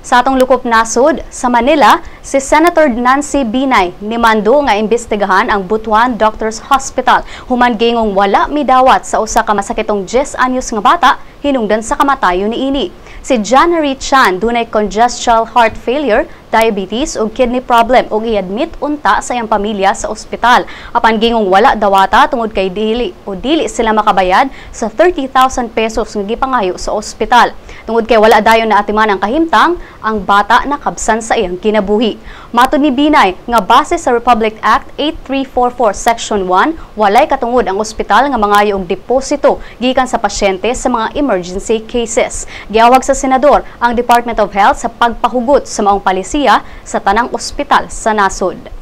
Sa atong lukop nasod, sa Manila, si Senator Nancy Binay nimando nga imbestigahan ang Butuan Doctors Hospital human gingong wala midawat sa usa ka masakitong 10 anyos nga bata hinungdan sa kamatayon niini. Si January Chan dunay congestive heart failure, diabetes ug kidney problem ug i-admit unta sa iyang pamilya sa ospital. Apan gingong wala dawata tungod kay dili o dili sila makabayad sa 30,000 pesos nga gipangayo sa ospital. Tungod kay wala dayon na atiman ang kahimtang, ang bata nakabsan sa iyang kinabuhi. Matod ni Binay nga base sa Republic Act 8344 Section 1, walay katungod ang ospital nga mangayo og deposito gikan sa pasyente sa mga emergency cases. Giawag sa senador ang Department of Health sa pagpahugot sa maong palisiya sa tanang ospital sa nasod.